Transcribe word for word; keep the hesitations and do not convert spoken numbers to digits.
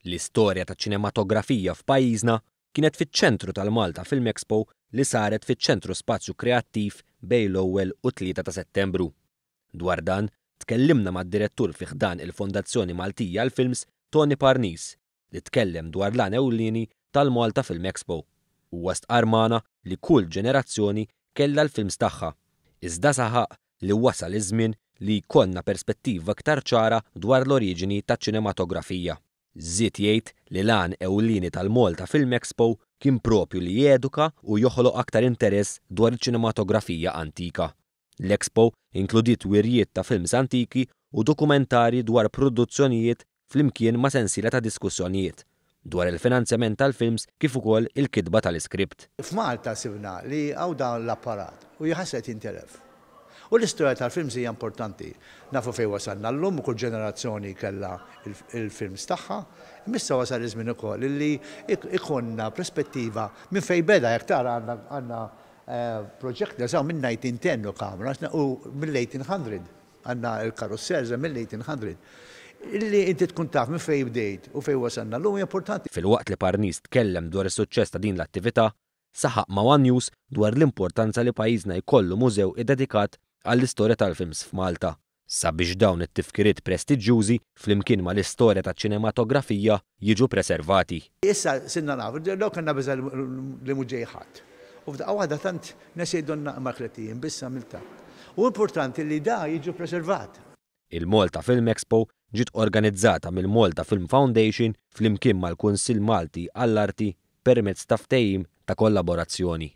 L-istorja taċ-ċinematografija f'pajjiżna kienet fiċ-ċentru tal-Malta Film Expo li saret fiċ-Ċentru Spazju Kreattiv bejn l-ewwel u tlieta ta' Settembru. Dwar dan, tkellimna mad-direttur fi ħdan il-Fondazzjoni Maltija għall-Films, Tony Parnis, li tkellem dwar l-għan ewlieni tal-Malta Film Expo. Huwa stqarr magħna li kull ġenerazzjoni kellha l-films tagħha. Iżda saħaq li wasal iż-żmien li jkollna perspettiva iktar ċara dwar l-oriġini taċ-ċinematografija. Żied jgħid li l-għan ewlieni tal-Malta Film Expo kien propju li jeduka u joħloq aktar interess dwar iċ-ċinematografija antika. L-Expo inkludiet wirjiet ta' films antiki u dokumentarji dwar produzzjonijiet flimkien ma' sensiela ta' diskussjonijiet dwar il-finanzjament tal-films kif ukoll il-kitba tal-iskript. F'Malta sibna li hawn dan l-apparat u jħasset jintelef. U l-istorja tal-films hija importanti. Nafu fejn wasalna llum u kull ġenerazzjoni kellha il-films tagħha. Issa wasal iż-żmien ukoll li ikollna perspettiva minn fejn beda. Jekk tara, għandna proġett li minn elf disa' mija u għaxra u kamra u mill-elf tmien mija għandna il-carousels mill-elf tmien mija. Illi inti tkun taf minn fejn bdejt u fejn wasalna llum importanti. Filwaqt li Parnis tkellem dwar is-suċċess ta' din l-attività, saħaq ma' One News dwar l-importanza li pajjiżna jkollu mużew iddedikat għall-istorja tal-films f'Malta, sabiex dawn it-tifkiriet prestiġjużi flimkien mal-istorja taċ-ċinematografija jiġu preservati. Issa sirna nafu, daw kellna biża' li mhu ġej ħadd. U f'daqqa waħda tant nies jgħidulna ma tliet biss għamilta. U importanti li da jiġu preservat. Il-Malta Film Expo ġiet organizzata mill-Malta Film Foundation flimkien mal-Kunsill Malti għall-Arti permezz ta' ftehim ta' kollaborazzjoni.